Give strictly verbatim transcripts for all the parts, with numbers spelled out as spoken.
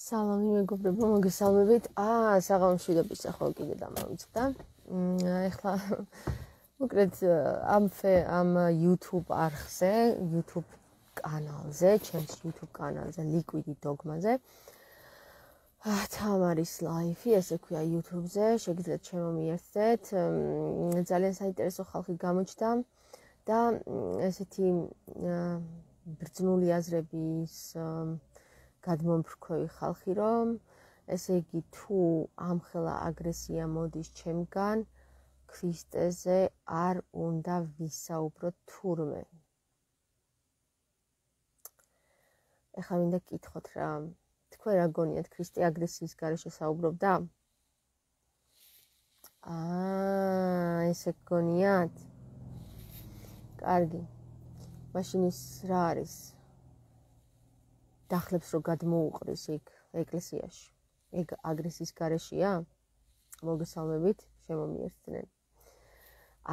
სალამი მეგობრებო, მოგესალმებით. აა, საღამოში და ბისახო კიდე დამავიწყდა. ეხლა უკრეთ ამ ამ YouTube არხზე, YouTube კანალზე, ჩემს YouTube კანალზე, Liquid Dogma-ზე. აა, თამარის ლაიფი, ესე ქვია YouTube-ზე, შეგიძლიათ შემომიერთდეთ. ძალიან საინტერესო ხალხი გამოჩნდა და ესეთი ბრძნული აზრების გადმომფრქვევი ხალხი, რომ ესე იგი თუ ამხელა აგრესია მოდის ჩემგან, ქრისტეზე არ უნდა ვისაუბროთ თურმე. ეხლა მინდა გკითხოთ რა, თქვენ რა გონიათ, ქრისტე აგრესიის გარეშე საუბრობდა? აა, ესე გონიათ? კარგი. მაშინ ის რა არის? დახლებს რო გადმოუყრის იქ ეკლესიაში. ეგ აგრესიის გარეშეა? მოგესალმებით, შემომიერთდნენ.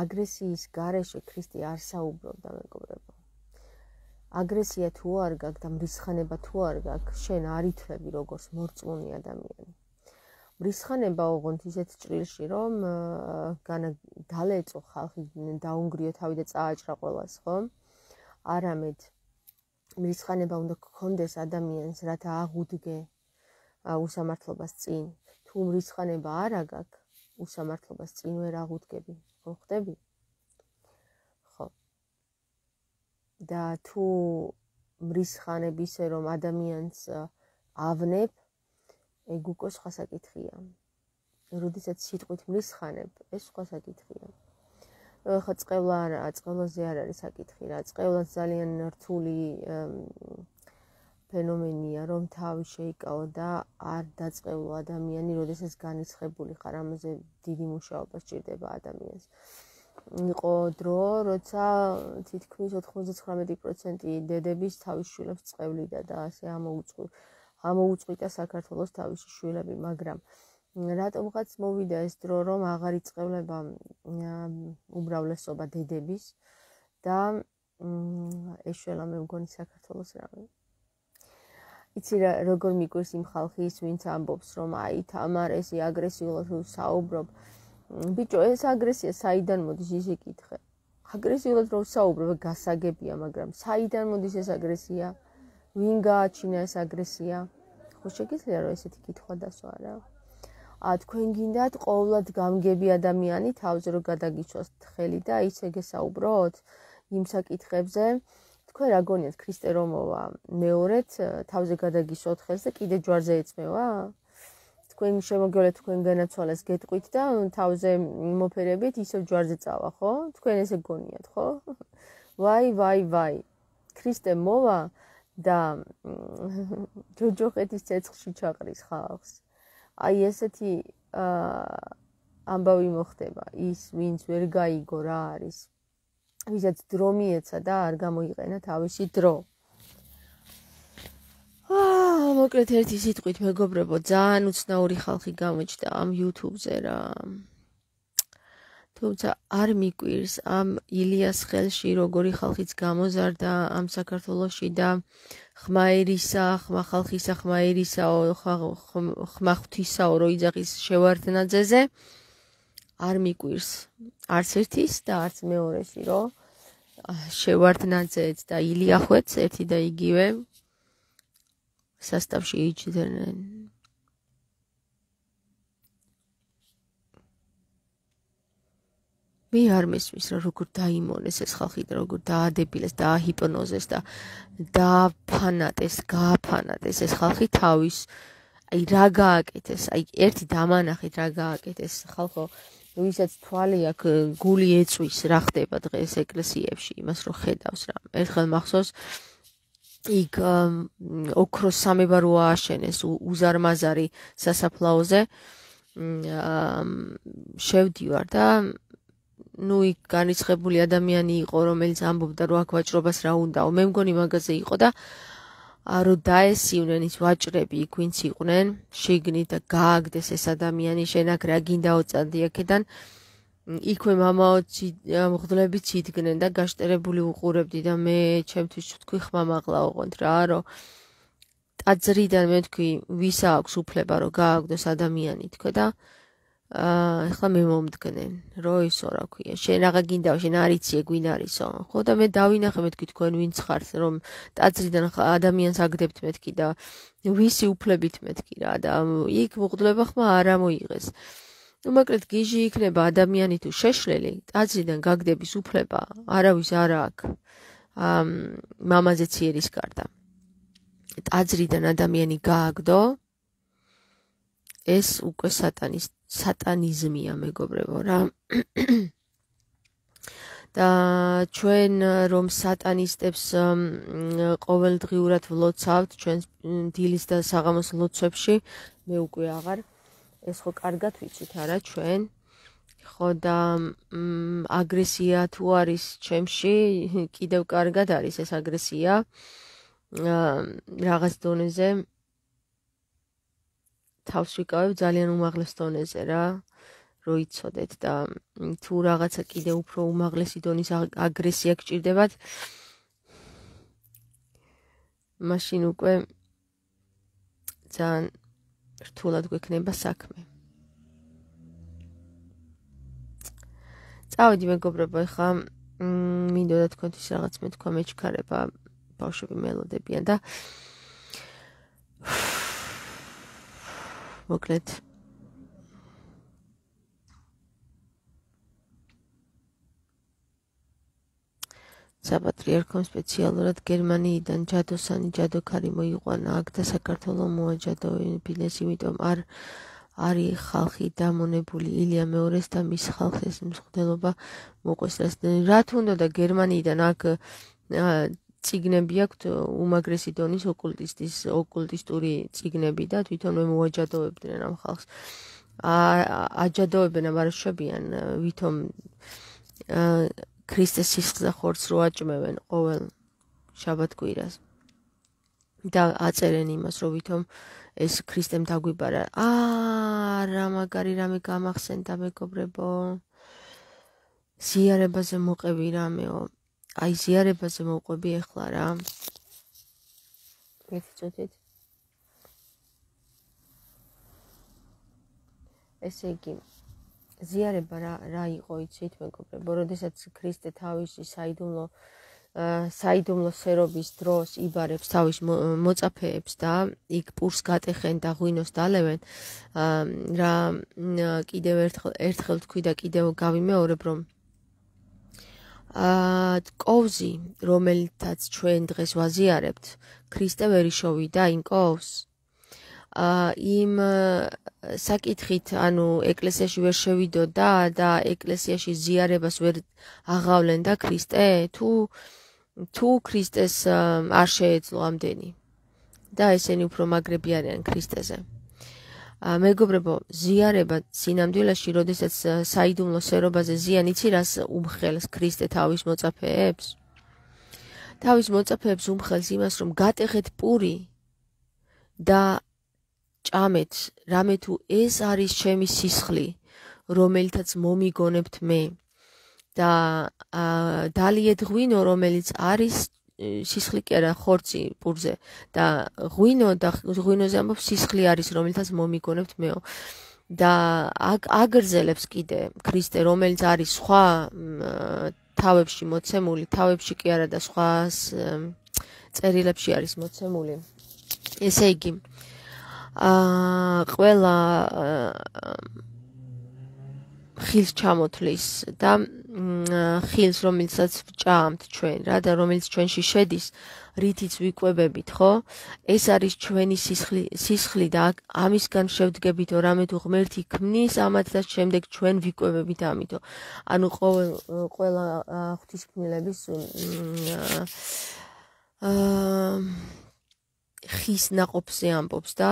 აგრესიის გარეშე ქრისტე არ საუბრობდა, მეგობრებო. აგრესია თუ არ გაქვს და მრისხანება თუ არ გაქვს, შენ არ ითვლები როგორც მორწმუნე ადამიანი. მრისხანება ოღონდ ისეთ ჭრილში, რომ დალეწო ხალხი, დაუნგრიო თავი და წააჭრა ყველას, ხო? არამედ მრისხანება უნდა გქონდეს ადამიანს, რათა აღუდგე უსამართლობას წინ. თუ მრისხანება არ აქვს, უსამართლობას წინ ვერ აღუდგები, ხო ხდები? ხო. და თუ მრისხანები ისე რომ ადამიანს ავნებ, ეგ უკვე სხვა საკითხია. როდესაც სიტყვით მრისხანებ, ეს სხვა საკითხია. ხო, წყევლა არა, წყევლაზე არ არის საკითხი რა. წყევლაც ძალიან რთული ფენომენია, რომ თავი შეიკავო და არ დაწყევლო ადამიანი, როდესაც განიცხებული ხარ, ამაზე დიდი მუშაობა სჭირდება ადამიანს. იყო დრო, როცა თითქმის ოთხმოცდათვრამეტი პროცენტი დედების თავის შვილებს წყევლიდა და ასე ამოუწყვიტა საქართველოს თავისი შვილები, მაგრამ რატომღაც მოვიდა ეს დრო, რომ აღარ იწყევლება უმრავლესობა დედების და ეშველა მე მგონი საქართველოს რამე. იცი რა, როგორ მიგვირს იმ ხალხის, ვინც ამბობს, რომ აი თამარ ესე აგრესიულად საუბრობ. ბიჭო, ეს აგრესია საიდან მოდის, ისე კითხე. აგრესიულად რომ საუბრობ, გასაგებია, მაგრამ საიდან მოდის ეს აგრესია? ვინ გააჩინა ეს აგრესია? ხო შეგიძლია რომ ესეთი კითხვა დასვა რა. ა თქვენ გინდათ ყოვლად გამგები ადამიანი თავზე რომ გადაგიცვას ხელი და ისე გესაუბროთ იმ საკითხებზე. თქვენ რა გონიათ, ქრისტე რომ მოვა მეორედ თავზე გადაგისვათ ხელს და კიდე ჯვარზე ეწმევა? თქვენ შემოგიოლეთ, თქვენ განაცვალეს გეტყვით და თავზე მოფერებით ისევ ჯვარზე წავა, ხო? თქვენ ესე გონიათ, ხო? ვაი, ვაი, ვაი. ქრისტე მოვა და ჯოჯოხეთის ცეცხლში ჩაყრის ხალხს. აი ესეთი ამბავი მოხდება, ის ვინც ვერ გაიგო რა არის, ვისაც დრო მიეცა და არ გამოიყენა თავისი დრო. აა, მოკლედ ერთი სიტყვით, მეგობრებო, ძალიან უცნაური ხალხი გამოჩნდა ამ YouTube-ზე რა. თუმცა არ მიკვირს ამ ილიას ხელში როგორი ხალხიც გამოზარდა ამ საქართველოში და ხმაერისა, ხმა ხალხისა, ხმაერისაო, ხმა ღვთისაო რო იძახის შევარდნაძეზე, არ მიკვირს არც ერთის და არც მეორეში, რომ შევარდნაძეც და ილიახვეც ერთი და იგივე სასტავში იჯდნენ. მე არ მესმის რა როგორ დაიმონეს ეს ხალხი და როგორ დაადებილეს, დააჰიპნოზეს და დააფანატეს, გააფანატეს ეს ხალხი თავის. აი რა გააკეთეს, აი ერთი დამანახეთ რა გააკეთეს ხალხო, ვისაც თვალი აქვს, გული ეწვის რა ხდება დღეს ეკლესიებში, იმას რო ხედავს რა. ერთხელ მახსოვს იქ ოქროს სამებარო ააშენეს უზარმაზარი სასაფლაოზე. შევდივარ და ნუ იქ განიცხებული ადამიანი იყო, რომელიც ამბობდა, რომ აქ ვაჭრობას რა უნდაო. მე მგონი მაგაზე იყო და რო დაესივნენ ის ვაჭრები იქ ვინც იყვნენ, შიგნით და გააგდეს ეს ადამიანი, შენ აქ რა გინდაო წადი აქედან. იქვე მამაო მღვდლებიც იდგნენ და გაშტერებული უყურებდი და მე ჩემთვის ვთქვი ხმამაღლა ოღონდ რა, რომ ტაძრიდან მე თქვი ვის აქვს უფლება რომ გააგდოს ადამიანი თქო და აა ეხლა მე მომდგნენ რო ისო რა ქვია შენ რაღა გინდა შენ არიცი გვინ არისო ხო და მე დავინახე მე თქვი თქვენ ვინც ხართ რომ ტაძრიდან ადამიანს აგდებთ მეთქი და ვისი უფლებით მეთქი რა და იქ მოხდება ხმა არ ამოიღეს ნუ მაგრამ გიჟი იქნება ადამიანი თუ შეშლელი ტაძრიდან გაგდების უფლება არავის არ აქვს ამ მამაზე ციერის გარდა ტაძრიდან ადამიანი გააგდო ეს უკვე სატანის სატანიზმია მეგობრებო რა და ჩვენ რომ სატანისტებს ყოველდღიურად ვლოცავთ ჩვენ დილის და საღამოს ლოცვებში მე უკვე აღარ ეს ხო კარგად ვიცით არა ჩვენ ხო და აგრესია თუ არის ჩემში კიდევ კარგად არის ეს აგრესია რაღაც დონეზე თავს ვიკავებ ძალიან უმაღლეს დონეზე რა რო იცოდეთ და თუ რაღაცა კიდე უფრო უმაღლესი დონის აგრესია გჭირდებათ მაშინ უკვე ძალიან რთულად გვექნება საქმე წავედი მეგობრებო ეხლა მინდოდა თქვენთვის რაღაც მეთქვა მეჩქარება ბავშვები მელოდებიან და მოკლედ საპატრიარქომ სპეციალურად გერმანიიდან ჯადოსანი ჯადოქარი მოიყვანა აქ და საქართველოს მოაჯადოებინეს იმიტომ არ არის ხალხი დამონებული ილია მეორეს და მის ხალხს ეს მსხვერპლობა მოყვეს რა თუნდა და გერმანიიდან აქ ციგნები აქვთ უმაგრესი დონის ოკულტისტის ოკულტისტური ციგნები და თვითონვე მოაჯადოებდნენ ამ ხალხს აჯადოებენ ამ არშობიან ვითომ ქრისტეს სისხლზე ხორცს რო აჭმევენ ყოველ შაბათ-კვირას და აწერენ იმას რომ ვითომ ეს ქრისტემ დაგვიბარა აა რა მაგარი რამე გამახსენდა მეგობრებო ზიარებაზე მოყევი რამეო აი ზიარებაზე მოყვები ახლა რა მეთწოდეთ ესე იგი ზიარება რა რა იყო იცით მეგობრებო როდესაც ქრისტე თავისი საიდუმლო საიდუმლო სერობის დროს იბარებს თავის მოწაფეებს და იქ პურს გატეხენ და ღვინოს დალევენ რა კიდევ ერთხელ ერთხელ თქვი და კიდევ გავიმეორებ რომ აა კოვზი რომელთაც ჩვენ დღეს ვაზიარებთ ქრისტე ვერ იშოვიდა იმ კოვს აა იმ საკითხით ანუ ეკლესიაში ვერ შევიდოდა და ეკლესიაში ზიარებას ვერ აღავლენდა ქრისტე თუ თუ ქრისტეს არ შეეძლო ამდენი და ესენი უფრო მაგრები არიან ქრისტეზე მეგობრებო ზიარება სინამდვილეში როდესაც საიდუმლო სერობაზე ზიან იცი რას უმხელს ქრისტე თავის მოწაფეებს თავის მოწაფეებს უმხელს იმას რომ გატეხეთ პური და ჭამეთ რამე თუ ეს არის ჩემი სისხლი რომელთაც მომიგონებთ მე და დალიეთ ღვინო რომელიც არის სისხლი კი არა ხორცი პურზე და ღვინო და ღვინოზე ამბობს სისხლი არის რომელთაც მომიგონებთ მეო და აგრძელებს კიდე ქრისტე რომელიც არის სხვა თავებში მოცემული თავებში კი არა და სხვა წერილებში არის მოცემული ესე იგი აა ყველა ხილს ჩამოთვლის და ხილს რომელსაც ვჭამთ ჩვენ რა და რომელიც ჩვენში შედის რითიც ვიკვებებით ხო ეს არის ჩვენი სისხლი სისხლი და ამისგან შევდგებით რამე თუ ღმერთი ქმნის ამათ და შემდეგ ჩვენ ვიკვებებით ამითო ანუ ყოველ ყველა ღვთისმშობლების აა ხის ნაყოფზე ამბობს და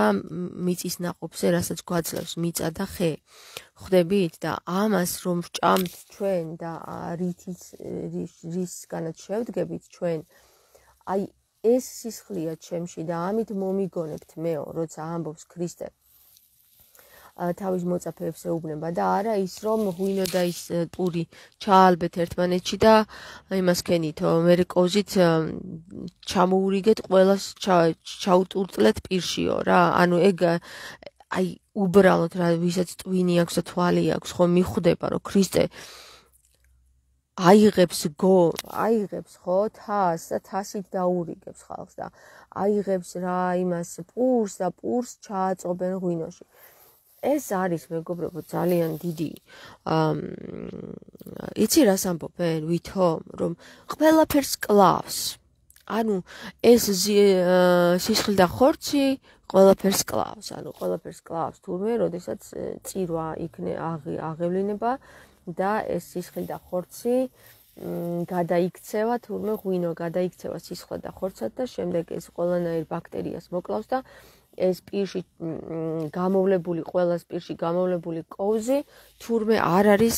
მიწის ნაყოფზე რასაც გვაძლევს მიწა და ხე ხვდებით და ამას რომ ვჭამთ ჩვენ და რითიც რისგანაც შევდგებით ჩვენ აი ეს სისხლია ჩემში და ამით მომიგონებთ მეო როცა ამბობს ქრისტე თავის მოწაფეებს ეუბნება და არა ის რომ ღვინო და ის პური ჩაალბეთ ერთმანეთში და იმას ქენითო მე კოზით ჩამოურიგეთ ყველას ჩაუტურტლეთ პირშიო რა ანუ ეგ აი უბრალოდ რა ვისაც ტვინი აქვს და თვალი აქვს ხო მიხვდება რომ ქრისტე აიღებს გო აიღებს ხო თას და თასით დაურიგებს ხალხს და აიღებს რა იმას პურს და პურს ჩააწობენ ღვინოში ეს არის მეგობრებო ძალიან დიდი იცი რას ამბობენ ვითომ რომ ყველაფერს კლავს ანუ ეს სისხლი და ხორცი ყველაფერს კლავს ანუ ყველაფერს კლავს თურმე როდესაც წირვა იქნე აღევლინება და ეს სისხლი და ხორცი გადაიქცევა თურმე ღვინო გადაიქცევა სისხლად და ხორცად და შემდეგ ეს ყველანაირ ბაქტერიას მოკლავს და ეს პირში გამოვლებული ყველას პირში გამოვლებული კოვზი თურმე არ არის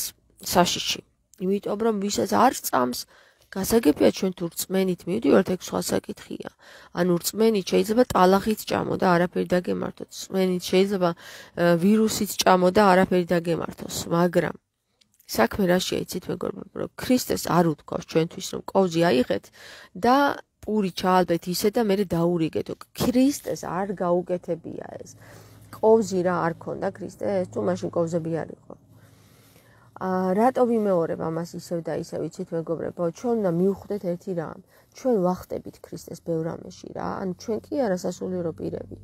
საშიში იმიტომ რომ ვისაც არ წამს გასაგებია ჩვენ თუ რწმენით მივდივართ ეგ სხვა საკითხია ანუ რწმენით შეიძლება ტალახით ჭამო და არაფერი დაგემართოს რწმენით შეიძლება ვირუსით ჭამო და არაფერი დაგემართოს მაგრამ საქმე რაშია იცით მეგობრებო რომ ქრისტეს არ უთქვავს ჩვენთვის რომ კოვზი აიღეთ და პური ჩაალბეთ ისე და მე დაურიგეთ ქრისტეს არ გაუკეთებია ეს კოვზი რა არ ქონდა ქრისტეს თუ მაშინ კოვზები არ იყო აა რატო ვიმეორებ ამას ისევ და ისევ იცით მეგობრებო ჩვენ უნდა მივხვდეთ ერთი რამ ჩვენ ვახტებით ქრისტეს ბევრ რამეში რა ანუ ჩვენ კი არა სასულიერო პირები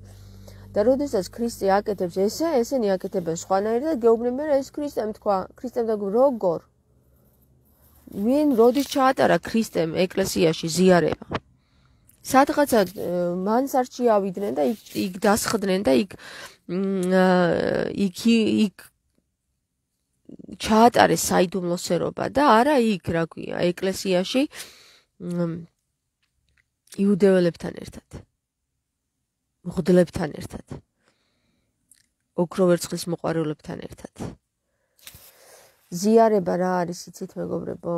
და როდესაც ქრისტე აკეთებს ესე ესენი აკეთებენ სხვანაირად და გეუბნებიან რომ ეს ქრისტემ თქვა ქრისტემ და როგორ ვინ როდის ჩაატარა ქრისტემ ეკლესიაში ზიარება სადღაცა მანსარჩი ავიდნენ და იქ იქ დასხდნენ და იქ იქ იქ ჩაატარეს საიდუმლოსერობა და არა იქ რა ქვია ეკლესიაში იუდეველებთან ერთად მღვდლებთან ერთად ოქროვერცხლის მოყვარულებთან ერთად ზიარება რა არის იცით მეგობრებო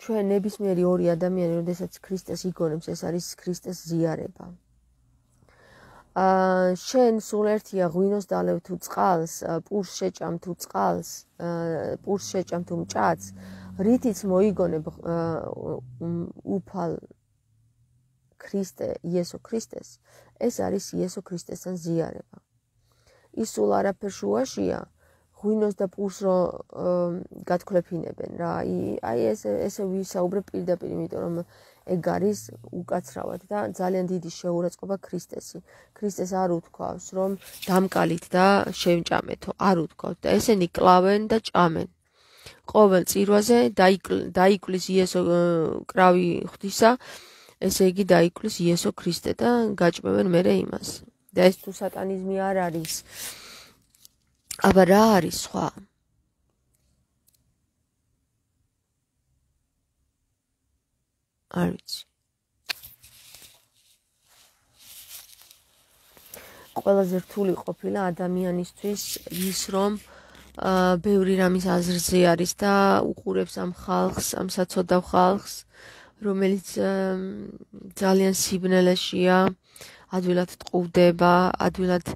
ჩვენ ნებისმიერი ორი ადამიანი როდესაც ქრისტეს იგონებს ეს არის ქრისტეს ზიარება აა შენ სულ ერთია ღვინოს დალევ თუ წყალს პურს შეჭამ თუ წყალს პურს შეჭამ თუ მჭადს რითიც მოიგონებ უფალ ქრისტე იესო ქრისტეს ეს არის იესო ქრისტესთან ზიარება ის სულ არაფერ შუაშია ღვინოს და პურს რო გათქვლებინებენ რა აი ეს ესე ვისაუბრებ პირდაპირ იმიტომ რომ ეგ არის უკაცრავად და ძალიან დიდი შეურაცხყოფა ქრისტესი ქრისტეს არ უთქვავს რომ დამკალით და შევჭამეთო არ უთქვავს და ესენი კლავენ და ჭამენ ყოველ წირვაზე დაიკლის იესო კრავი ღვთისა ესე იგი დაიკლის იესო ქრისტე და გაჭმევენ მერე იმას და ეს თუ სატანიზმი არ არის აბა რა არის სხვა არ ვიცი ყველაზე რთული ყოფილა ადამიანისთვის ის რომ აა ბევრი რამის აზრზე არის და უყურებს ამ ხალხს ამ საცოდავ ხალხს რომელიც ძალიან სიბნელეშია ადვილად ტყუდება ადვილად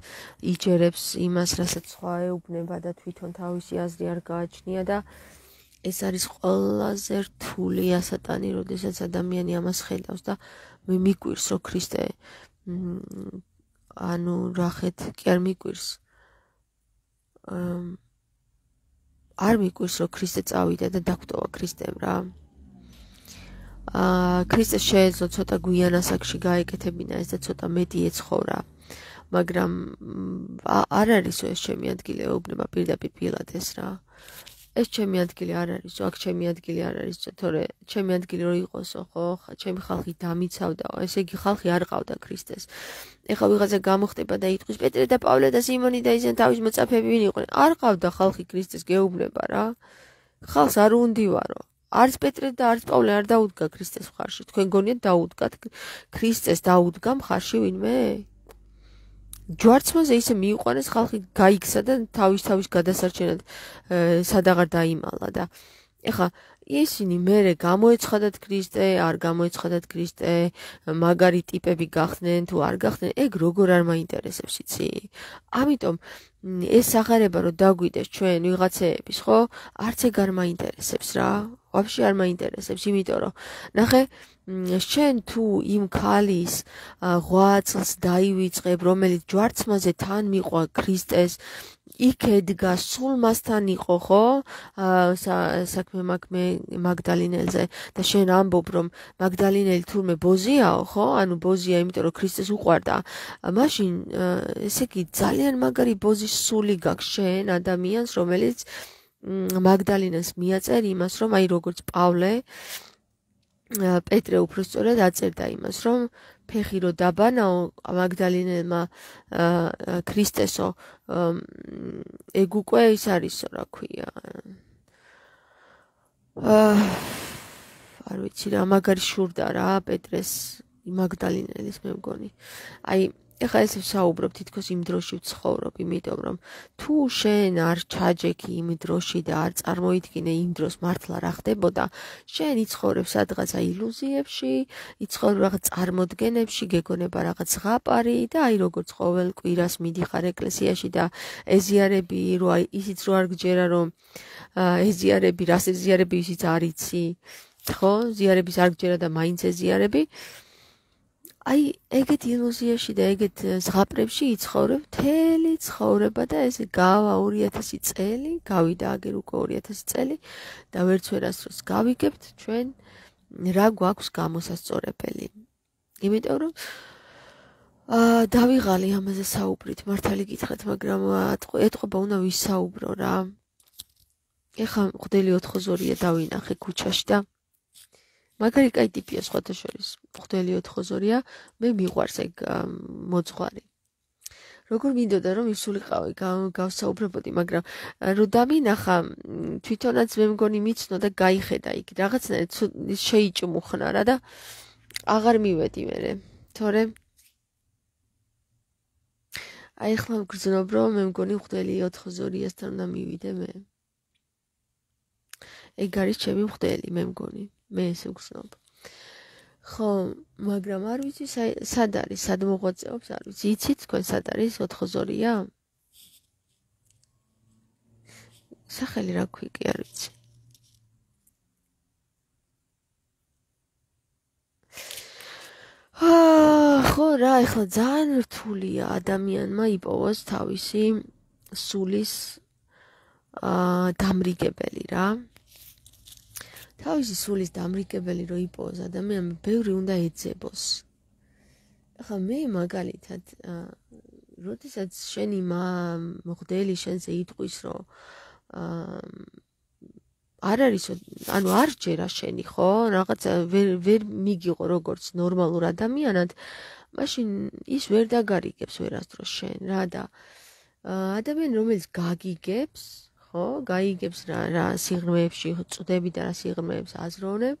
იჯერებს იმას რასაც სხვა ეუბნება და თვითონ თავისი აზრი არ გააჩნია და ეს არის ყველაზე რთული ასატანი როდესაც ადამიანი ამას ხედავს და მე მიკვირს რომ ქრისტე ანუ რახეთ კი არ მიკვირს არ მიკვირს რომ ქრისტე წავიდა და დაგვტოვა ქრისტემ რა აა ქრისტეს შეეძლო ცოტა გვიან ასაკში გაეკეთებინა ეს და ცოტა მეტი ეცხოვრა მაგრამ არ არის ეს ჩემი ადგილი ეუბნება პირდაპირ პილატეს რა ეს ჩემი ადგილი არ არის აქ ჩემი ადგილი არ არის თორე ჩემი ადგილი რო იყოსო ხო ჩემი ხალხი დამიცავდაო ესე იგი ხალხი არ ყავდა ქრისტეს ეხლა ვიღაცა გამოხდება და იტყვის პეტრე და პავლე და სიმონი და ისინი თავის მოწაფეები ვინ იყვნენ არ ყავდა ხალხი ქრისტეს გეუბნება რა ხალხს არ უნდივარო არც პეტრე და არც პავლე არ დაუდგა ქრისტეს მხარში თქვენ გონიათ დაუდგათ ქრისტეს დაუდგა მხარში ვინმე ჯვარცმაზე ისე მიიყვანეს ხალხი გაიქცა და თავის თავის გადასარჩენად სადაღარ დაიმალა და ეხლა ისინი მერე გამოეცხადათ ქრისტე, არ გამოეცხადათ ქრისტე, მაგარი ტიპები გახდნენ თუ არ გახდნენ, ეგ როგორ არ მაინტერესებს იცი? ამიტომ ეს აღარება რომ დაგვიდეს ჩვენ ვიღაცეების, ხო? არც ეგ არ მაინტერესებს რა. ვაფშე არ მაინტერესებს, იმიტომ რომ ნახე შენ თუ იმ ქალის ღვაწლს დაივიწყებ, რომელიც ჯვარცმაზე თან მიყვა ქრისტეს, იქ ედგა, სულ მასთან იყო, ხო? საქმე მაქმე მაგდალინელზე და შენ ამბობ, რომ მაგდალინელი თურმე ბოზიაო, ხო? ანუ ბოზია, იმიტომ რომ ქრისტეს უყვარდა. მაშინ ესე იგი ძალიან მაგარი ბოზის სული გაქვს შენ ადამიანს, რომელიც მაგდალინას მიაწერ იმას, რომ აი როგორც პავლე პეტრე უბრალოდ აწერდა იმას, რომ ფეხი რო დაბანაო მაგდალინელმა ქრისტესო ეგ უკვე ის არისო, რა ქვია. არ ვიცი რა, მაგარი შურდა რა პეტრეს მაგდალინელის მე მგონი. აი ეხლა ესე ვსაუბრობ, თითქოს იმ დროში ვცხოვრობ, იმიტომ რომ თუ შენ არ ჩაჯექი იმ დროში და არ წარმოიდგინე იმ დროს მართლა რა ხდებოდა, შენ იცხოვრებ სადღაცა ილუზიებში, იცხოვრებ რაღაც წარმოდგენებში, გეგონება რაღაც ზღაპარი და აი როგორც ყოველ კვირას მიდიხარ ეკლესიაში და ეზიარები, რო აი ისიც რო არ გჯერა, რომ ეზიარები, რას ეზიარები ისიც არ იცი, ხო? ზიარების არ გჯერა და მაინც ეზიარები. აი ეგეთ ილუზიაში და ეგეთ ზღაპრებში იცხოვრებ მთელი ცხოვრება და ესე გავა ორი ათასი წელი, გავიდა აგერ უკვე ორი ათასი წელი და ვერც ვერასდროს გავიგებთ ჩვენ რა გვაქვს გამოსასწორებელი. იმიტომ რომ აა დავიღალი ამაზე საუბრით, მართალი გითხრათ, მაგრამ ეთყობა უნდა ვისაუბრო რა. ეხლა მღვდელი ოთხოზორია დავინახე ქუჩაში და მაგარი კაი ტიპია სხვათა შორის. მღვდელი ოთხოზორია, მე მიყვარს ეგ მოძღვარი. როგორ მინდოდა რომ ისულიყავი, გავსაუბრებოდი, მაგრამ რო დამინახა, თვითონაც მე მგონი მიცნო და გაიხედა იქ. რაღაცნაირად შეიჭმუხნა რა და აღარ მივედი მერე. თორემ აი ახლა მგრძნობ რომ მე მგონი მღვდელი ოთხოზორიასთან უნდა მივიდე მე. ეგ არის ჩემი მღვდელი, მე მგონი. მე ესე ვგრძნობ. ხო, მაგრამ არ ვიცი სად არის, სად მოღვაწეობს, არ ვიცი. იცით თქვენ სად არის ოთხოზორია? სახელი რა ქვია, არ ვიცი. აა, ხო რა, ეხლა ძალიან რთულია ადამიანმა იპოვოს თავისი სულის აა დამრიგებელი რა. თავისი სულის დამრიგებელი რო იპოვოს ადამიანმა, ბევრი უნდა ეძებოს. ახლა მე მაგალითად, როდესაც შენი მღვდელი შენზე იტყვის, რომ არ არის, ანუ არ ჯერა შენი, ხო? რაღაცა ვერ ვერ მიგიყო როგორც ნორმალურ ადამიანად, მაშინ ის ვერ დაგარიგებს ვერასდროს შენ რა და ადამიანი რომელიც გაგიგებს, ხო, გაიგებს რა რა სიღრმეებში წვდები და რა სიღრმეებს აზროვნებ.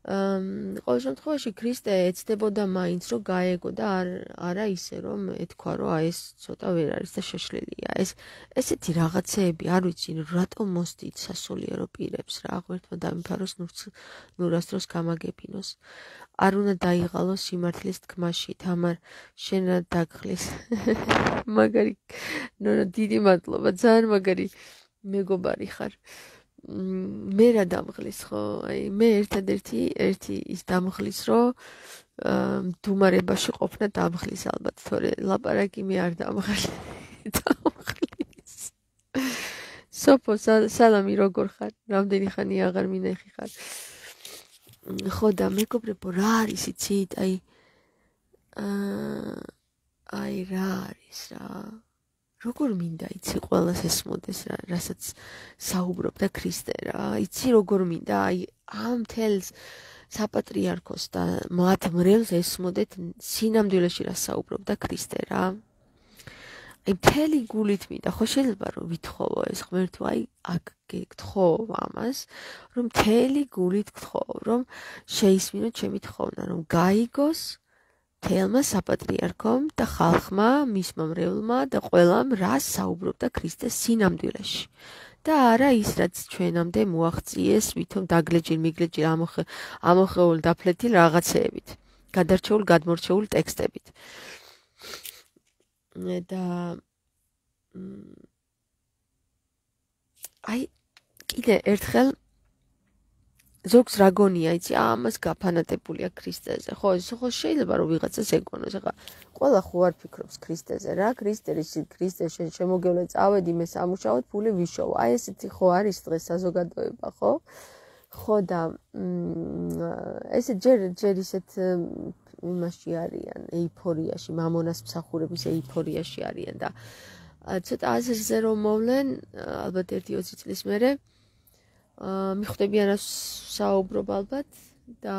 ყოველ შემთხვევაში ქრისტე ეცდებოდა მაინც რომ გაეგო და არ არა ისე რომ ეთქვა რომ აი ეს ცოტა ვერ არის და შეშლილია. ეს ესეთი რაღაცეები არ ვიცი რატომ მოსდით სასულიერო პირებს რა ღმერთმა დამიფაროს ნურასდროს გამაგებინოს. არ უნდა დაიღალოს სიმართლის თქმაში, თამარ შენა დაგხლის. მაგარი ნონა დიდი მადლობა, ძალიან მაგარი მეგობარი ხარ. მე რა დამღლის ხო? აი მე ერთადერთი ერთი ის დამღლის რომ მდუმარებაში ყოფნა დამღლის ალბათ, თორე ლაპარაკი მე არ დამღლის. დამღლის. სოფო სალამი როგორ ხარ? რამდენი ხანი აღარ მინახი ხარ? ხო და მეგობრებო რა არის იცით? აი აა აი რა არის რა? როგორ მინდა იცი ყველას ესმოდეს რა, რასაც საუბრობდა ქრისტე რა. იცი როგორ მინდა აი ამ თელს საპატრიარქოს და მათ მრევლს ესმოდეთ სინამდვილეში რა საუბრობდა ქრისტე რა. აი მთელი გულით მინდა, ხო შეიძლება რომ ვითხოვო ეს ღმერთო, აი აქ გთხოვ ამას, რომ მთელი გულით გთხოვ, რომ შეისმინო ჩემი თხოვნა, რომ გაიგოს თელმა საპატრიარქომ და ხალხმა, მისმა მრევლმა და ყველამ რას საუბრობდა ქრისტეს სინამდვილეში. და არა ის, რაც ჩვენამდე მოაღწიეს, ვითომ დაგლეჯილ მიგლეჯილ ამოხეულ დაფლეთილ რაღაცეებით, გადარჩეულ გადმორჩეულ ტექსტებით. და აი კიდე ერთხელ ზოგს რა გონია, იცი, ამას გაფანატებულია ქრისტეზე. ხო, ხო შეიძლება რომ ვიღაცას ეგონოს. ახლა ყველა ხო არ ფიქრობს ქრისტეზე რა, ქრისტერის ქრისტე შემოგევლე წავედი მე სამუშაოდ, ფული ვიშოვო. აი ესეთი ხო არის დღეს საზოგადოება, ხო? ხო და ესე ჯერ ჯერ ისეთ იმაში არიან, ეიფორიაში, მამონას მსახურების ეიფორიაში არიან და ცოტა აზრზე რომ მოვლენ, ალბათ ერთი ოცი წლის მერე მიხვდებიან რას საუბრობ ალბათ და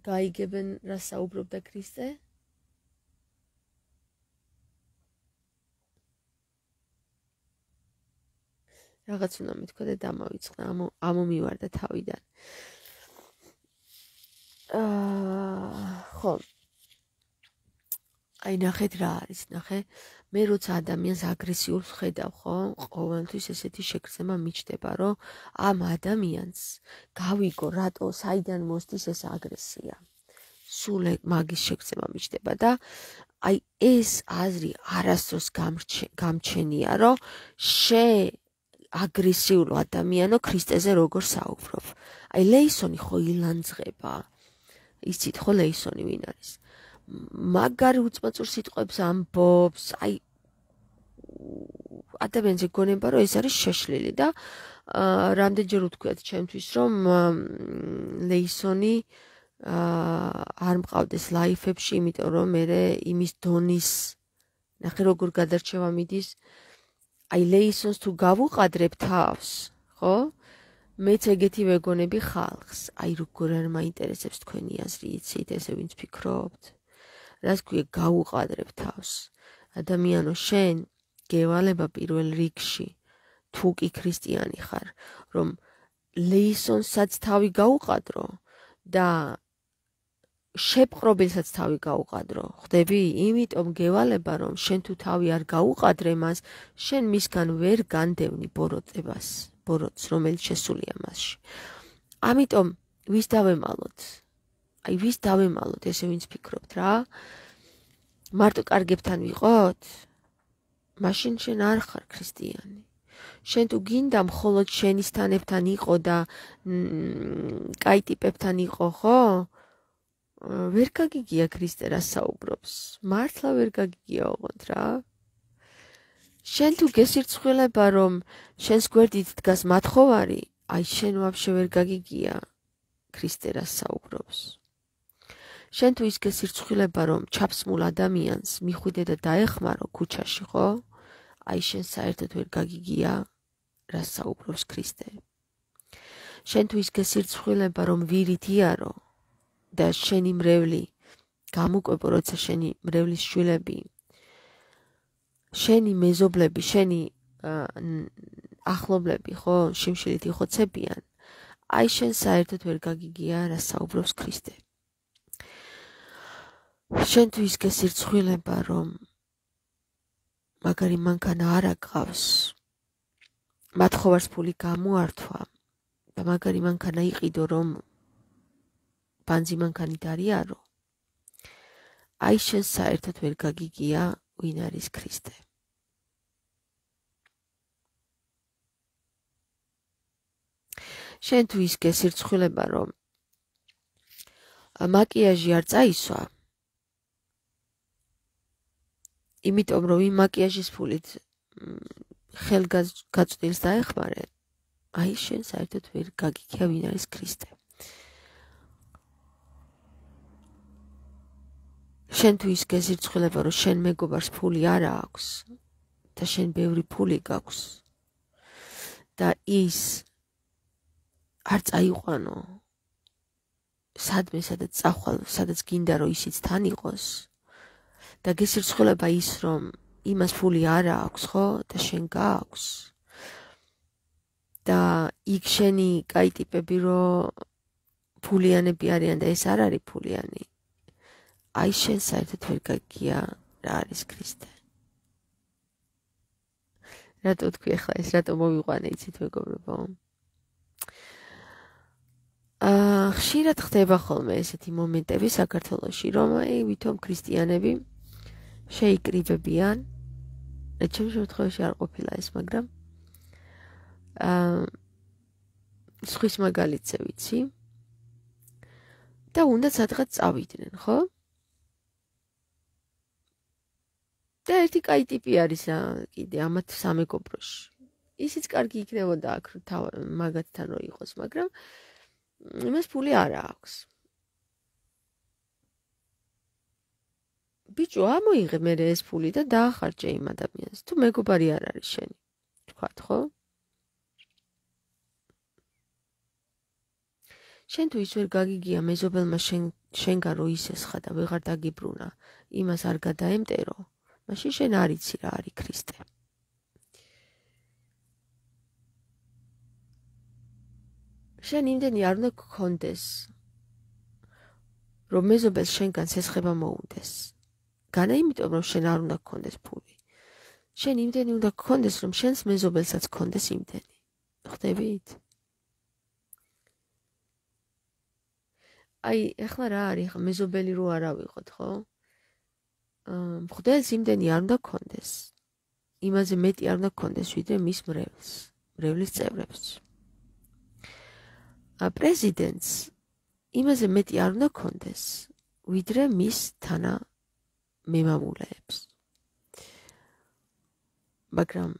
გაიგებენ რას საუბრობდა ქრისტე. რაღაც უნდა მithქვა და დამავიწყდა, ამომივარდა თავიდან. აა ხო. აი ნახეთ რა არის, ნახე. მე როცა ადამიანს აგრესიულს ხედავ, ხო, ყოველთვის ესეთი შეგრძნება მიჩნდება, რომ ამ ადამიანს გავიგო, რატო საიდან მოსდის ეს აგრესია. სულ მაგის შეგრძნება მიჩნდება და აი ეს აზრი არასდროს გამჩენია, რომ შე აგრესიულ ადამიანო ქრისტეზე როგორ საუბრობ. აი ლეისონი ხო ილანძღება. იცით ხო ლეისონი ვინ არის? მაგარი უწმაწურ სიტყვებს ამბობს, აი ადამიანზე გონება რომ ეს არის შეშლილი და რამდენჯერ უთქვიათ ჩემთვის რომ ლეისონი არ მყავდეს ლაიფებში, იმიტომ რომ მე იმის დონის ნახე როგორ გადარჩევა მიდის. აი ლეისონს თუ გავუყადრებ თავს, ხო? მეც ეგეთი ვეგონები ხალხს. აი როგორ არ მაინტერესებს თქვენი აზრი, იცით, ესე ვინც ფიქრობთ. რას გვია გავუყადრებ თავს. ადამიანო შენ გევალება პირველ რიგში თუ კი ქრისტიანი ხარ, რომ ლეისონსაც თავი გაუყადრო და შეპყრობილსაც თავი გაუყადრო. ხდები? იმიტომ გევალება რომ შენ თუ თავი არ გაუყადრე მას, შენ მისგან ვერ განდევნი ბოროტებას, ბოროტს, რომელიც შესულია მასში. ამიტომ ვის დავემალოთ? აი ვის დავემალოთ, ესე ვინც ფიქრობთ რა? მარტო კარგებთან ვიყოთ? მაშინ შენ არ ხარ ქრისტიანი. შენ თუ გინდა მხოლოდ შენისთანებთან იყო და კაი ტიპებთან იყო, ხო? ვერ გაგიგია ქრისტე რა საუბრობს. მართლა ვერ გაგიგია ოღონდ რა. შენ თუ გესირცხვილება რომ შენს გვერდით დგას მათხოვარი, აი შენ ვაფშე ვერ გაგიგია ქრისტე რა საუბრობს. შენ თუ ის გესირცხვილება რომ ჩაფსმულ ადამიანს მიხვიდე და დაეხმარო ქუჩაში, ხო? აი შენ საერთოდ ვერ გაგიგია რა საუბრობს ქრისტე. შენ თუ ის გესირცხვილება რომ ვირით იარო და შენი მრევლი გამოკვებო, როცა შენი მრევლის შვილები, შენი მეზობლები, შენი ახლობლები, ხო, შიმშილით იხოცებიან, აი შენ საერთოდ ვერ გაგიგია რა საუბრობს ქრისტე. შენ თუ ის გესირცხვილება რომ მაგარი მანქანა არ აგყავს, მათხოვარს ფული გამოართვა და მაგარი მანქანა იყიდო რომ ბანძი მანქანით არიარო, აი შენ საერთოდ ვერ გაგიგია ვინ არის ქრისტე. შენ თუ ის გესირცხვილება რომ მაკიაჟი არ წაისვა, იმიტომ რომ იმ მაკიაჟის ფულით ხელგაწვდილს დაეხმარე, აი შენ საერთოდ ვერ გაგიგია ვინ არის ქრისტე. შენ თუ ის გესირცხვილება რომ შენ მეგობარს ფული არ აქვს და შენ ბევრი ფული გაქვს და ის არ წაიყვანო სადმე სადაც წახვალ, სადაც გინდა რომ ისიც თან იყოს და გესირცხვილება ის რომ იმას ფული არ აქვს, ხო, და შენ გააქვს და იქ შენი კაი ტიპები რომ ფულიანები არიან და ეს არ არის ფულიანი. აი შენ საერთოდ ვერ გაგია რა არის ქრისტე. რატო თქვი ახლა ეს რატო მოვიყვანე იცით მეგობრებო? აა ხშირად ხდება ხოლმე ესეთი მომენტები საქართველოში, რომ აი ვითომ ქრისტიანები შეიკრიბებიან. ჩემ შემთხვევაში არ ყოფილა ეს, მაგრამ აა სხვის მაგალითზე ვიცი. და უნდა სადღაც წავიდნენ, ხო? და ერთი კაი ტიპი არის რა კიდე ამათ სამეგობროში. ისიც კარგი იქნებოდა აქ მაგათთან რო იყოს, მაგრამ იმას ფული არ აქვს. ბიჭო, ამოიღე მე ეს ფული და დაახარჯე იმ ადამიანს. თუ მეგობარი არ არის შენი, თქვათ, ხო? შენ თუ ის ვერ გაგიგია მეზობელმა შენ შენგან რო ისესხა და ვეღარ დაგიბრუნა, იმას არ გადაემტერო, მაშინ შენ არ იცი რა არის ქრისტე. შენ იმდენი არ უნდა გქონდეს, რომ მეზობელს შენგან სესხება მოუნდეს. განა იმიტომ, რომ შენ არ უნდა გქონდეს ფული. შენ იმდენი უნდა გქონდეს, რომ შენს მეზობელსაც გქონდეს იმდენი. ხვდებით? აი, ახლა რა არის, ხა მეზობელი რო არ ავიღოთ, ხო? აა, მღვდელს იმდენი არ უნდა გქონდეს. იმაზე მეტი არ უნდა გქონდეს, ვიდრე მის მრევლს, მრევლის წევრებს. ა პრეზიდენტს იმაზე მეტი არ უნდა გქონდეს, ვიდრე მის თანა მემამულეებს. მაგრამ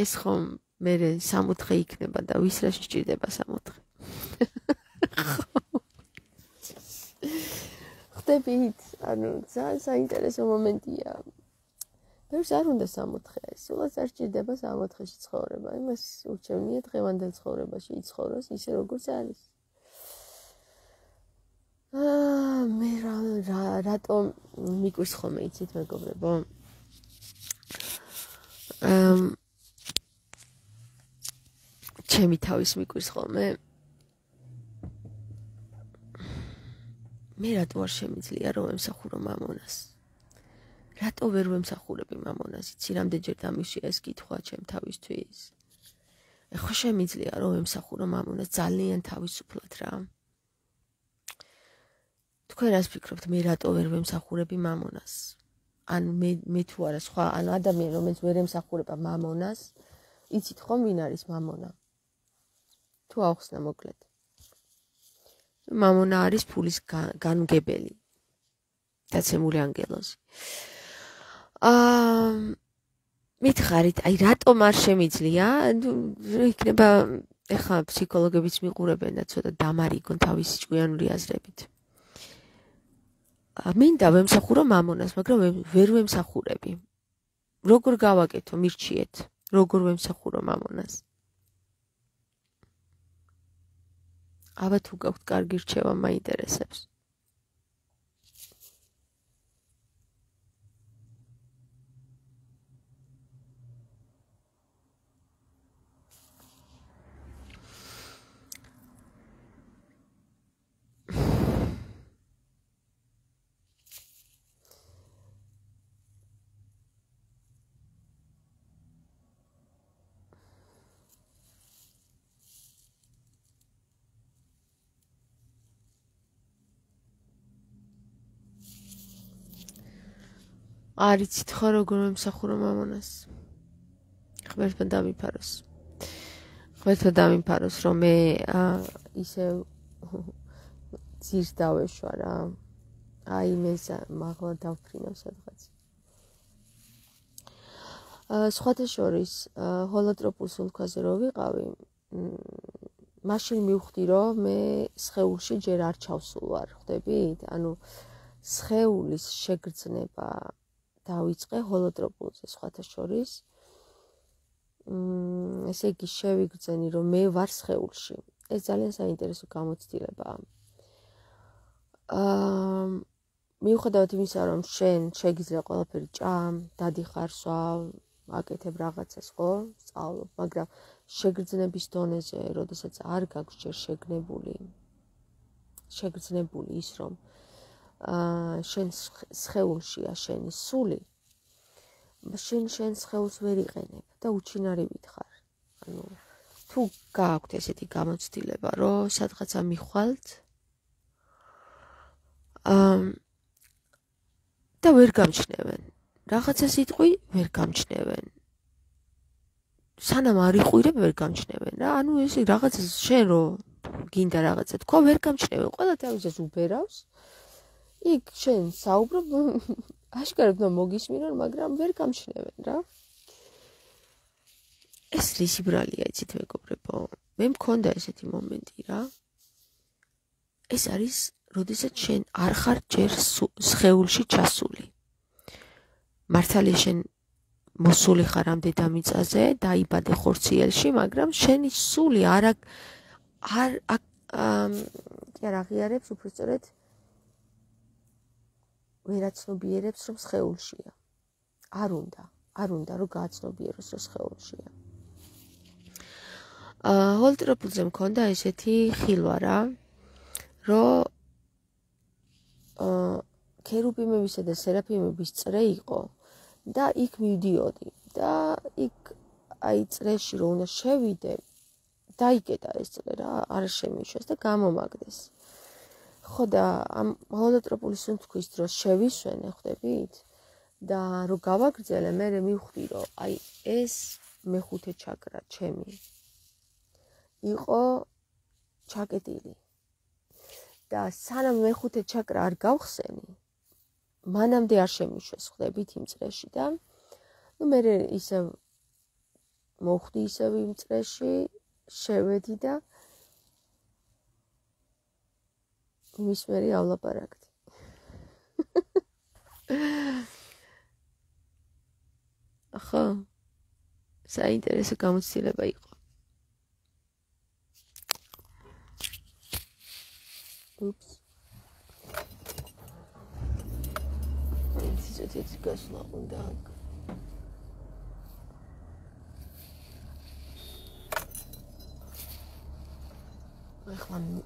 ეს ხომ მე სამოთხე იქნება და ვის რა შეჭირდება სამოთხე. ხდებით, ანუ ძალიან საინტერესო მომენტია. ბევრს არ უნდა სამოთხე, სულაც არ სჭირდება სამოთხეში ცხოვრება. იმას ურჩევნია დღევანდელ ცხოვრებაში იცხოვროს ისე როგორც არის. აა მე რა რატო მიკვირს ხოლმე იცით მეგობრებო? აა ჩემი თავის მიკვირს ხოლმე. მე რატო არ შემიძლია რომ ემსახურო მამონას? რატო ვერ ვემსახურები მამონას? იცი რამდენჯერ დამიშვია ეს კითხვა ჩემ თავისთვის. ეხლა შემიძლია რომ ემსახურო მამონას ძალიან თავისუფლად რა. თქვენ რას ფიქრობთ, მე რატო ვერ ვემსახურები მამონას? ან მე მე თუ არა სხვა, ან ადამიანი რომელიც ვერ ემსახურება მამონას, იცით ხომ ვინ არის მამონა? თუ ახსნა მოკლედ. მამონა არის ფულის განმგებელი. დაცემული ანგელოზი. აა მითხარით, აი რატომ არ შემიძლია? იქნება ეხლა ფსიქოლოგებიც მიყურებენ და ცოტა დამარიგონ თავისი ჭკვიანური აზრებით. მინდა ვემსახურო მამონას, მაგრამ ვერ ვემსახურები. როგორ გავაკეთო, მირჩიეთ, როგორ ვემსახურო მამონას? აბა თუ გაქვთ კარგი რჩევა, მაინტერესებს. არიცით ხო როგორ ვემსახურო მამონას? ღმერთმა დამიფაროს. ღმერთმა დამიფაროს, რომ მე ისე ძირს დავეშვა რა. აი მე მაღლა დავფრინავ სადღაც. სხვათა შორის, ჰოლოტროპულ სულქვაზე რო ვიყავი, მაშინ მივხვდი, რომ მე სხეულში ჯერ არ ჩავსულ ვარ, ხვდებით? ანუ სხეულის შეგრძნება დავიწყე ჰოლოტროპულზე სხვათა შორის. მ ესე იგი შევიგრძენი რომ მე ვარ სხეულში. ეს ძალიან საინტერესო გამოცდილებაა. აა მიუხედავად იმისა, რომ შენ შეგიძლია ყველაფერი ჭამ, დადიხარ, სვავ, აკეთებ რაღაცას, ხო? სწავლობ, მაგრამ შეგრძნების დონეზე, როდესაც არ გაქვს ჯერ შეგნებული, შეგრძნებული ის, რომ აა შენ სხეულშია შენი სული, შენ შენ სხეულს ვერ იყენებ და უჩინარივით ხარ. ანუ თუ გააქვთ ესეთი გამოცდილება, რომ სადღაცა მიხვალთ აა და ვერ გამჩნევენ. რაღაცა სიტყვი ვერ გამჩნევენ. სანამ არ იყვირებ ვერ გამჩნევენ რა. ანუ ეს რაღაცა შენ რო გინდა რაღაცა თქვა ვერ გამჩნევენ. ყველა თავისას უბერავს. იქ შენ საუბრობ აშკარად რომ მოგისმინონ, მაგრამ ვერ გამჩნევენ რა. ეს რისი ბრალია იცით მეგობრებო? მე მქონდა ესეთი მომენტი რა. ეს არის როდესაც შენ არ ხარ ჯერ სხეულში ჩასული. მართალია შენ მოსული ხარ ამ დედამიწაზე, დაიბადე ხორციელში, მაგრამ შენი სული არ არ კი არ აღიარებს უბრალოდ ვერაცნობიერებს რომ სხეულშია. არ უნდა, არ უნდა რომ გააცნობიეროს რომ სხეულშია. აა ჰოლტროპულზე მქონდა ესეთი ხილვა რა, რომ აა ქერუბიმებისა და სერაფიმების წრე იყო და იქ მივდიოდი და იქ აი წრეში რომ უნდა შევიდე, დაიკეტა ეს წრე რა, არ შემიშვეს და გამომაგდეს. ხო და ამ ჰოლოტროპულის სუნთქვის დროს შევისვენე, ხვდებით? და რო გავაგრძელე, მე მივხვდი რომ აი ეს მეხუთე ჩაკრა ჩემი იყო ჩაკეტილი. და სანამ მეხუთე ჩაკრა არ გავხსენი, მანამდე არ შემიშვეს, ხვდებით იმ წრეში და ნუ მე ისე მოხვდი ისევ იმ წრეში, შევედი და იმის მერეავლაპარაკდი. ახლა საინტერესო გამოცდილება იყო. Oops. It's it's gosla უნდა. ახლა მ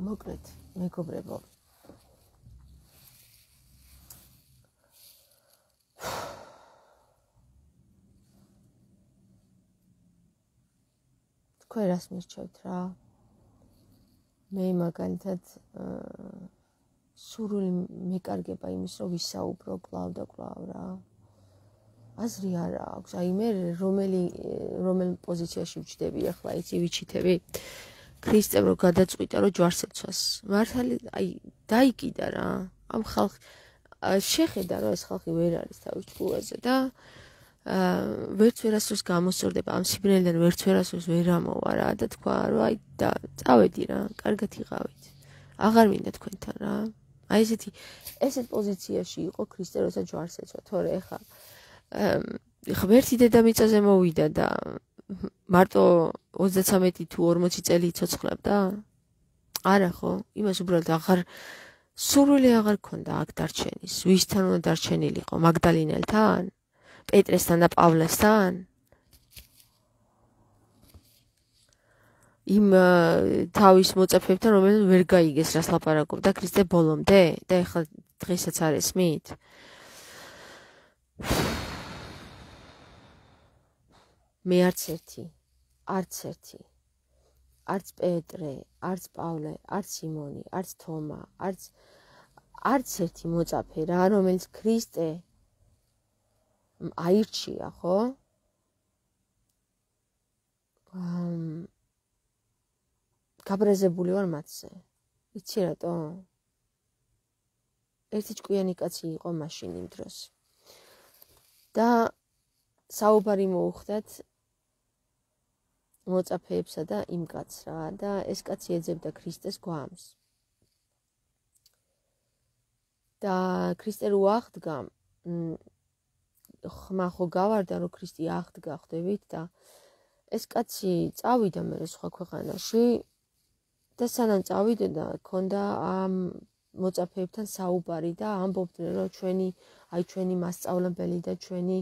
მოკლედ მეგობრებო. თქვენ რას მირჩევთ რა? მე მაგალითად სურვილი მეკარგება იმის, რომ ვისაუბრო კვლავ და კვლავ რა. აზრი არ აქვს. აი მე რომელი რომელ პოზიციაში ვჩდები ახლა, იცი ვიჩიტები? ქრისტემ რო გადაწყვიტა, რომ ჯვარს ეცვას. მართალი აი დაიკიდა რა. ამ ხალხ შეხედა, რომ ეს ხალხი ვერ არის თავის ჭკუაზე და აა ვერც ვერასდროს გამოსწორდება ამ სიბნელიდან, ვერც ვერასდროს ვერ ამოვა რა და თქვა, რომ აი და წავედი რა, კარგად იყავით. აღარ მინდა თქვენთან რა. აი ესეთი ესეთ პოზიციაში იყო ქრისტე, როცა ჯვარს ეცვა, თორე ეხა ეხა ვერთი დედამიწაზე მოვიდა და მარტო ოცდათრამეტი თუ ორმოცი წელი იცოცხლებდა? არა ხო? იმას უბრალოდ აღარ სურვილი აღარ ქონდა აქ დარჩენის. ვისთან უნდა დარჩენილიყო? მაგდალინელთან? პეტრესთან და პავლესთან? იმ თავის მოწაფეებთან, რომელნი ვერ გაიგეს რას ლაპარაკობდა ქრისტე ბოლომდე და ეხლა დღესაც არ ესმით? მე არც ერთი, არც ერთი, არც პეტრე, არც პავლე, არც სიმონი, არც თომა, არც არც ერთი მოწაფე რა, რომელიც ქრისტე აირჩია, ხო? ამ გაბრაზებული ვარ მათზე. იცი რატო? ერთი ჭკვიანი კაცი იყო მაშინ იმ დროს. და საუბარი მოუხდათ მოწაფეებსა და იმ კაცს რა და ეს კაცი ეძებდა ქრისტეს გვამს. და ქრისტე რო აღდგა, ხმა ხო გავარდა რომ ქრისტე აღდგა, ხვდებით და ეს კაცი წავიდა მე სხვა ქვეყანაში და სანამ წავიდა ქონდა ამ მოწაფეებთან საუბარი და ამბობდნენ რომ ჩვენი აი ჩვენი მასწავლებელი და ჩვენი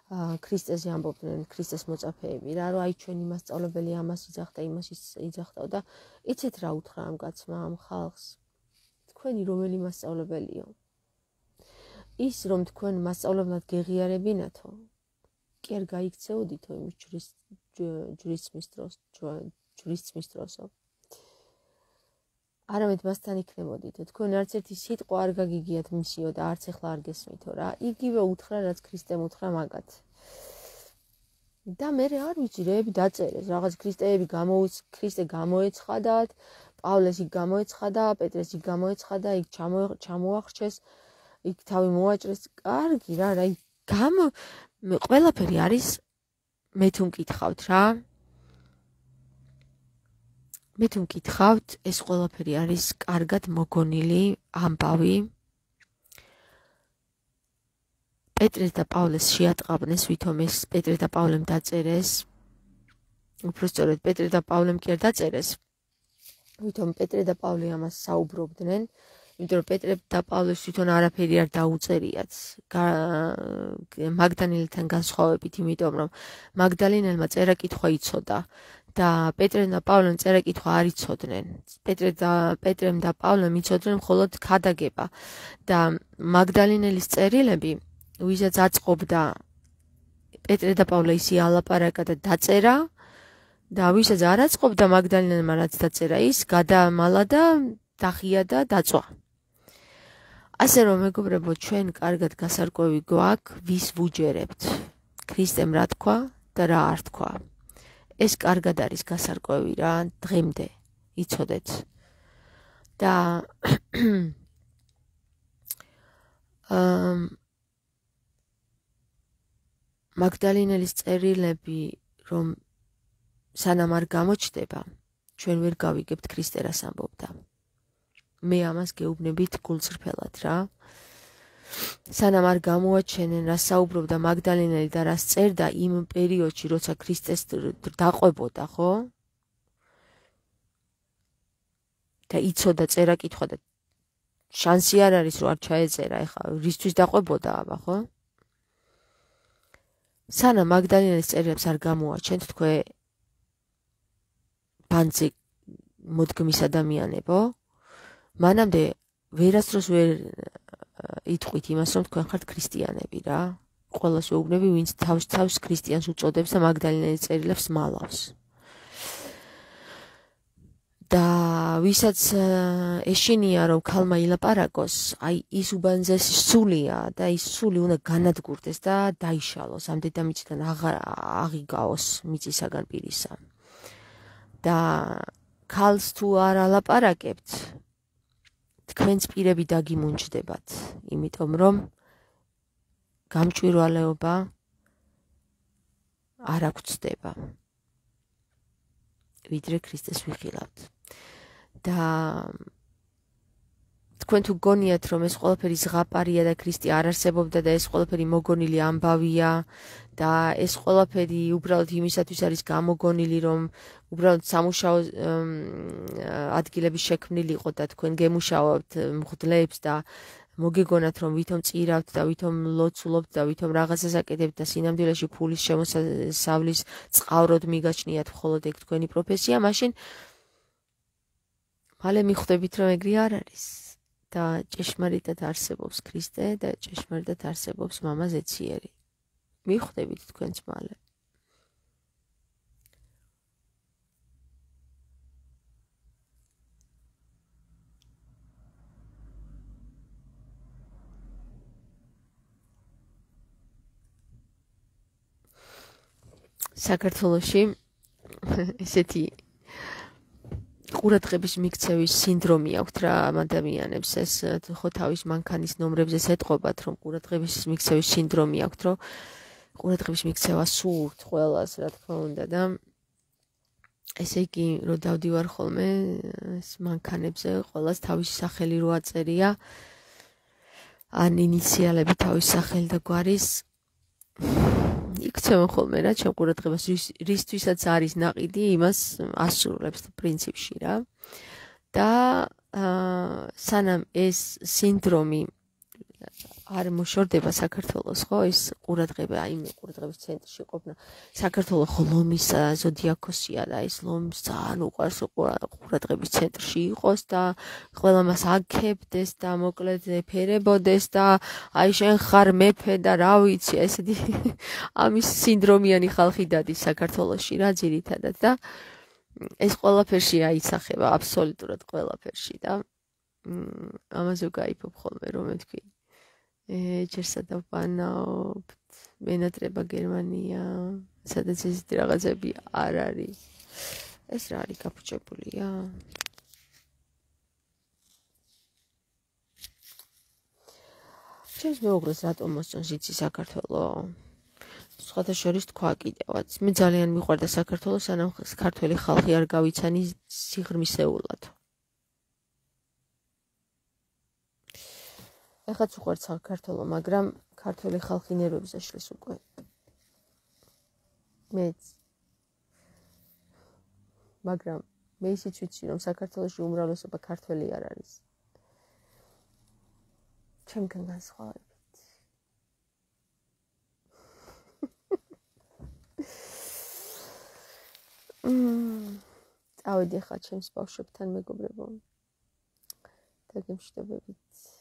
ქრისტეზე ამბობდნენ ქრისტეს მოწაფეები რა, რომ აი ჩვენი მასწავლებელი ამას იძახდა, იმას იძახდა და იცით რა უთხრა ამ კაცმა ამ ხალხს? თქვენი რომელი მასწავლებელიო? ის რომ თქვენ მასწავლებლად გეღიარებინათო, კი არ გაიქცეოდითო იმის ჯვრის ჯვრისმის დროს, ჯვრისმის დროსო. არამედ მასთან იქნებოდითო, თქვენ არც ერთი სიტყვა არ გაგიგიათ მისიო და არც ახლა არ გესმითო რა. იგივე უთხრა, რაც ქრისტემ უთხრა მაგათ. და მე არ ვიცი, რეები დაწერეს, რაღაც ქრისტეები გამოუც, ქრისტე გამოეცხადათ, პავლეს იქ გამოეცხადა, პეტრეს იქ გამოეცხადა, იქ ჩამოახრჩეს, იქ თავი მოაჭრეს. კარგი რა, რა, გამო ყველაფერი არის მე თუ მკითხავთ რა. მე თუ მკითხავთ, ეს ყველაფერი არის კარგად მოგონილი ამბავი. პეტრეს და პავლეს შეატყაბნეს, ვითომ ეს პეტრე და პავლემ დაწერეს. უფრო სწორედ პეტრე და პავლემ კი არ დაწერეს. ვითომ პეტრე და პავლე ამას საუბრობდნენ, იმიტომ რომ პეტრე და პავლეს თვითონ არაფერი არ დაუწერიათ. მაგდალინელთან განსხვავებით, იმიტომ რომ მაგდალინელმა წერა-კითხვა იცოდა. და პეტრემ და პავლემ წერა-კითხვა არ იცოდნენ. პეტრე და პეტრემ და პავლემ იცოდნენ მხოლოდ ქადაგება და მაგდალინელის წერილები, ვისაც აწყობდა პეტრე და პავლე ისი ალაპარაკა და დაწერა და ვისაც არ აწყობდა მაგდალინელმა რაც დაწერა ის გადაამალა და დახია და დაწვა. ასე რომ მეგობრებო, ჩვენ კარგად გასარკვევი გვაქვს, ვის ვუჯერებთ. ქრისტემ რა თქვა და რა არ თქვა. ეს კარგად არის გასარკვევი რა, დღემდე იცოდეთ. და მაგდალინელის წერილები რომ სანამ არ გამოჩნდება, ჩვენ ვერ გავიგებთ ქრისტე რას ამბობდა. მე ამას გეუბნებით გულწრფელად რა. სანამ არ გამოაჩენენ რა საუბრობდა მაგდალინელი და რას წერდა იმ პერიოდში, როცა ქრისტეს დაყვებოდა, ხო? და იცოდა წერა-კითხვა და შანსი არ არის რომ არ ჩაეწერა, ეხლა რისთვის დაყვებოდა აბა, ხო? სანამ მაგდალინელის წერილებს არ გამოაჩენთ თქვენ ბანძი მოდგმის ადამიანებო, მანამდე ვერასდროს ვერ იტყვით იმას, რომ თქვენ ხართ ქრისტიანები რა. ყველას ვეუბნები, ვინც თავს თავს ქრისტიანს უწოდებს და მაგდალინელის წერილებს მალავს. და ვისაც ეშინია რომ ქალმა ილაპარაკოს, აი ის უბანძესი სულია და ის სული უნდა განადგურდეს და დაიშალოს, ამ დედამიწიდან აღიგაოს მიწისაგან პირისა. და ქალს თუ არ ალაპარაკებთ, თქვენს პირები დაგიმუნჯდებათ, იმიტომ რომ გამჭვირვალეობა არ აღწდება. ვიდრე ქრისტეს ვიხილავთ. და თქვენ თუ გონიათ რომ ეს ყველაფერი ზღაპარია და ქრისტე არ არსებობდა და ეს ყველაფერი მოგონილი ამბავია და ეს ყველაფერი უბრალოდ იმისათვის არის გამოგონილი რომ უბრალოდ სამუშაო ადგილების შექმნილიყო და თქვენ გემუშაობთ მღვდლებს და მოგეგონათ რომ ვითომ წირავთ და ვითომ ლოცულობთ და ვითომ რაღაცას აკეთებთ და სინამდვილეში ფულის შემოსავლის წყავროდ მიგაჩნიათ მხოლოდ ეგ თქვენი პროფესია, მაშინ მალე მიხვდებით რომ ეგრე არ არის და ჭეშმარიტად არსებობს ქრისტე და ჭეშმარიტად არსებობს მამა ზეციერი. მიხვდებით თქვენც მალე. საქართველოში ესეთი ყურადღების მიქცევის სინდრომი აქვთ რა ამ ადამიანებს, ეს ხო თავის მანქანის ნომრებზე ეთყობათ რომ ყურადღების მიქცევის სინდრომი აქვთ, რომ ყურადღების მიქცევა სურთ ყველას რა თქმა უნდა და ესე იგი რომ დავდივარ ხოლმე ეს მანქანებზე ყველას თავისი სახელი რო აწერია ან ინიციალები თავის სახელი და გვარის იქცევენ ხოლმე რა ჩემ ყურადღებას რისთვისაც არის ნაყიდი იმას ასრულებს პრინციპში რა და სანამ ეს სინდრომი არ მოშორდება საქართველოს, ხო, ის ყურადღება, აი მე ყურადღების ცენტრში ყოფნა. საქართველოს ლომის ზოდიაქოსია და ის ლომს ძალიან უყვარს ყურადღების ცენტრში იყოს და ყველა მას აქებდეს და მოკლედ ეფერებოდეს და აი შენ ხარ მეფე და რა ვიცი, ესეთი ამის სინდრომიანი ხალხი დადის საქართველოში რა ძირითადად და ეს ყველაფერში აისახება აბსოლუტურად ყველაფერში და ამაზე გაიფობ ხოლმე რომ მეთქვი ეჯერსა და ვანაობთ მენატრება გერმანია სადაც ესეთი რაღაცები არ არის ეს რა არის გაფუჭებულია ჩემს მეუღლეს რატომ მოსწონს იცი საქართველო სხვათა შორის თქვა კიდევაც მე ძალიან მიყვარდა საქართველო სანამ ქართველი ხალხი არ გავიცანი სიღრმისეულად ეხაც უყვართ საქართველო, მაგრამ ქართველი ხალხი ნერვებს ეშლის უკვე. მეც. მაგრამ მე ისიც ვიცი, რომ საქართველოში უმრავლესობა ქართველი არ არის. ჩემგან განსხვავებით. წავედი ხა ჩემს ბავშვებთან მეგობრებო. და გემშვიდობებით.